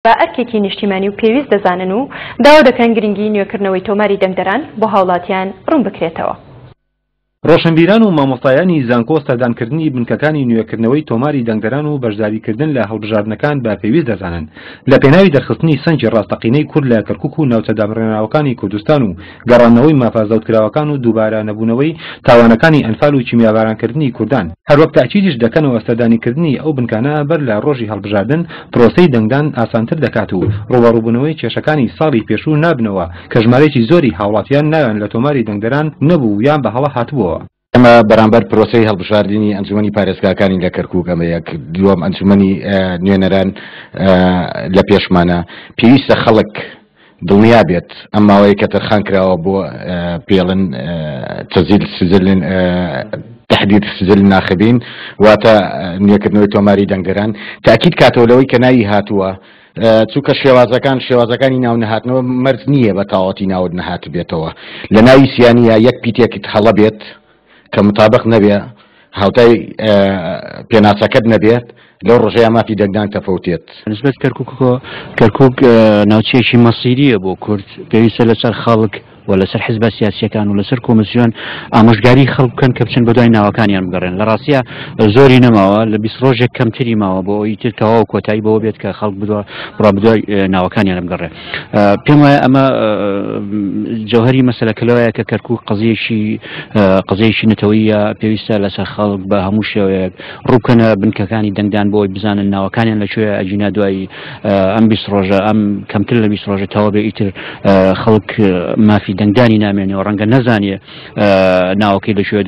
بە ئەرکێکی نیشتیمانی و پێویست دەزانن و داوا دەکەن گرنگی نوێکردنەوەی تۆماری دەنگدەران بۆ هاوڵاتیان ڕوون بکرێتەوە. ڕۆشنبیران و مامۆستایانی زانکۆ سەردانکردنی بنکەکانی نوێکردنەوەی تۆماری دەنگدەران و بەشداریکردن لە هەڵبژاردنەکان بە پێویست دەزانن لە پێناوی دەرخستنی سەنگی ڕاستەقینەی کورد لە کەرکوک و ناوچە دابڕێنراوەکانی کوردستان و گەڕاندنەوەی مافە زەوتکراوەکان و دووبارە نەبوونەوەی تاوانەکانی ئەنفال و کیمیابارانکردنی کوردان، هەروەک تەئکیدیش دەکەنەوە سەردانیکردنی ئەو بنکانە بەر لە ڕۆژی هەڵبژاردن پرۆسەی دەنگدان ئاسانتر دەکات و ڕووبەڕووبوونەوەی کێشەکانی ساڵی پێشوو نابنەوە کە ژمارەیەکی زۆری هاوڵاتیان ناویان لە تۆماری دەنگدەران نەبوو یان بە هەڵە هاتبووەوە. ئێمە بەرامبەر پرۆسەی هەڵبژاردنی ئەنجومەنی پارێزگاکانی لە کەرکوک ئەمە یەک، دووەم ئەنجومەنی نوێنەران لە پێشمانە، پێویستە خەڵک دڵنیا بێت ئەم ماوەیە کە تەرخان کراوە بۆ پێڵن تەزیل سجل تحدید سجل ناخبین واتە نوێکردنەوەی تۆماری دەنگدەران تاکید کاتەوە لەوەی کە ناوی هاتووە چونکە شێوازەکان شێوازەکانی ناو نەهاتنەوە مەرج نییە بە تەواوەتی ناوت نەهاتبێتەوە لە ناوی سیانیە یەک پیتێکت هەڵە بێت کە متابق نەبێ هاوتای پێناسەکەت نەبێت لەو ڕۆژەیە مافی دەنگدان تەفەوتێت. نسبەت کەرکوکەوە، کەرکوک ناوچەیەکی مەسیرییە بۆ کورد، پێویستە لەسەر خەڵک و لەسەر حزبە سیاسییەکان و لەسەر کۆمسیۆن ئامۆژگاری خەڵک بکەن کە بچن بەدوای ناوەکانیان بگەڕێن. لە ڕاستیا زۆری نەماوە، لە 20 ڕۆژێک کەمتری ماوە بۆ ئەوەی تر تەواو کۆتایی بەوە بێت کە خەڵک بڕوا بەدوای ناوەکانیان بگەڕێ. پێم وایە ئەمە جەوهەری مەسەلەکە لەوەیە کە کەرکوک قەزیەکی قەزیەکی نەتەوەیە، پێویستە لەسەر خەڵک بە هەموو شێوەیەک ڕووبکەنە بنکەکانی دەنگدان بۆ ئەوەی بزانن ناوەکانیان لە کوێیە، ئەگینا دوای ئەم 20 ڕۆژە ئەم کەمتر لە 20 ڕۆژە تەواو بێ ئیتر خەڵک مافی دەنگدانی نامێنێ و ڕەنگە نەزانێ ناوەکەی لە کوێ.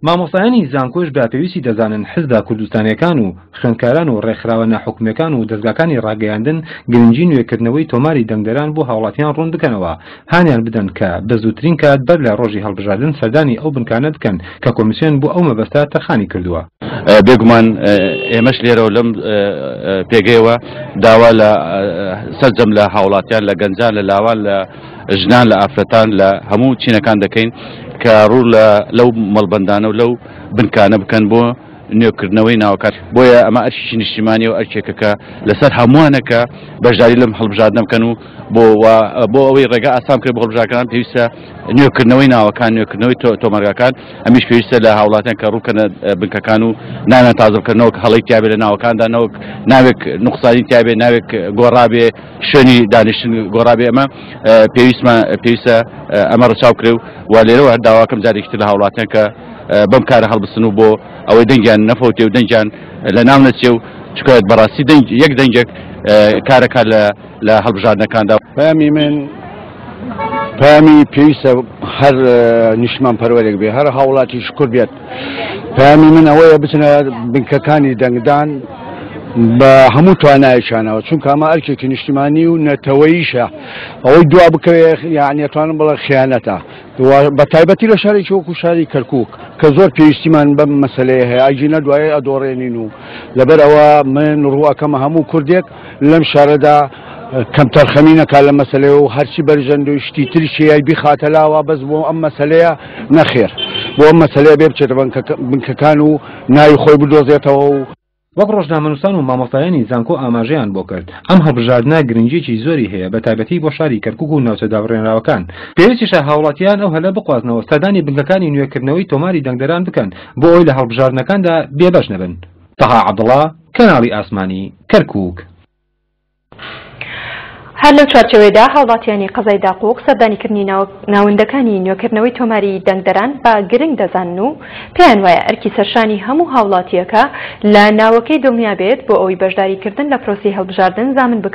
مامۆستایانی زانکۆش بە پێویستی دەزانن حزبە کوردستانیەکان و خوێندکاران و ڕێکخراوە ناحکومیەکان و دەزگاکانی ڕاگەیاندن گرنگی نوێکردنەوەی تۆماری دەنگدەران بۆ هاوڵاتیان ڕوون بکەنەوە هانیان بدەن کە بە زووترین کات بەر لە ڕۆژی هەڵبژاردن سەردانی ئەو بنکانە بکەن کە کۆمیسیۆن بۆ ئەو مەبەستە تەرخانی کردووە. بێگومان ئێمەش لێرەوە لەم پێگەیەوە داوا لە سەرجەم لە هاوڵاتیان لە گەنجان لە لاوان لە ژنان لە ئافرەتان لە هەموو چینەکان دەکەین کە ڕوو لە لەو مەڵبەندانە و لەو بنکانە بکەن بۆ نوێکردنەوەی ناوەکان بۆیە ئەمە ئەرکێکی نیشتیمانی و ئەرکێکە کە لەسەر هەمووانە کە بەشداری لەم هەڵبژاردنە بکەن و بۆ بۆ ئەوەی ڕێگا ئاسان بکرێت بۆ هەڵبژاردنەکان پێویستە نوێکردنەوەی ناوەکان نوێکردنەوەی تۆمارگاکان ئەمیش پێویستە لە هاوڵاتیان کە ڕووکەنە بنکەکان و ناویان تازە بکەنەوە کە هەڵەی تیابێ لە ناوەکاندا نەوەک ناوێک نوقسانی تیابێ ناوێک گۆڕابێ شوێنی دانیشتن گۆڕابێ ئەمە پێویستمان پێویستە ئەمە ڕەچاو کرێ و و لێرەوە هەر داواکەم جارێکی تر لە هاوڵاتیان کە بەم کارە هەڵبسن و بۆ ئەوەی دەنگیان نەفەوتێ و دەنگیان لە ناو نەچێ و چونکە بەڕاستی دەنگ یەک دەنگێک کارەکە لە لە هەڵبژاردنەکاندا. پەیامی من پەیامی پێویستە هەر نیشتمان پەروەرێک بێ هەر هاوڵاتی شکر بێت پەیامی من ئەوەیە بچنە بنکەکانی دەنگدان بە هەموو توانایەکیانەوە چونکە ئەمە ئەرکێکی نیشتیمانی و نەتەوەیشە ئەوەی دوا بکەوێ یعنی ئەتوانم بڵێ خیانەتە بە تایبەتی لە شارێکی وەکو شاری کەرکک کە زۆر پێویستیمان بەم مەسلەیە هەیە ئەگینا دوایە ئەدۆڕێنین و لەبەر ئەوە من ڕووەکەمە هەموو کوردێک لەم شارەدا کەمتەرخەمی نەکا لە مەسلەیە و هەرچی بەرژەند و شتی تریشی هەیە بیخاتە لاوە بەس بۆ ئەم مەسلەیە نەخێر بۆ ئەم مەسلەیە بێ بچێتە بنکەکان و ناوی خۆی بدۆزێتەوە و وەک ڕۆژنامەنووسان و مامۆستایانی زانکۆ ئاماژەیان بۆ کرد، ئەم هەڵبژاردنە گرنگییەکی زۆری هەیە بەتایبەتی بۆ شاری کەرکوک و ناوچە دابڕێنراوەکان، پێویستیشە هاوڵاتیان ئەو هەلە بقوازنەوە سەردانی بنکەکانی نوێکردنەوەی تۆماری دەنگدەران بکەن بۆ ئەوەی لە هەڵبژاردنەکاندا بێبەش نەبن. تەها عەبدوڵا، کەناڵی ئاسمانی، کەرکوک. هەر لەو چوارچێوەیەدا هاوڵاتیانی قەزای داقوق سەردانیکردنی ناوەندەکانی نوێکردنەوەی تۆماری دەنگدەران بە گرنگ دەزانن و پێیان وایە ئەرکی سەرشانی هەموو هاوڵاتییەکە لە ناوەکەی دڵنیا بێت بۆ ئەوەی بەشداریکردن لە پرۆسەی هەڵبژاردن زامن بکات.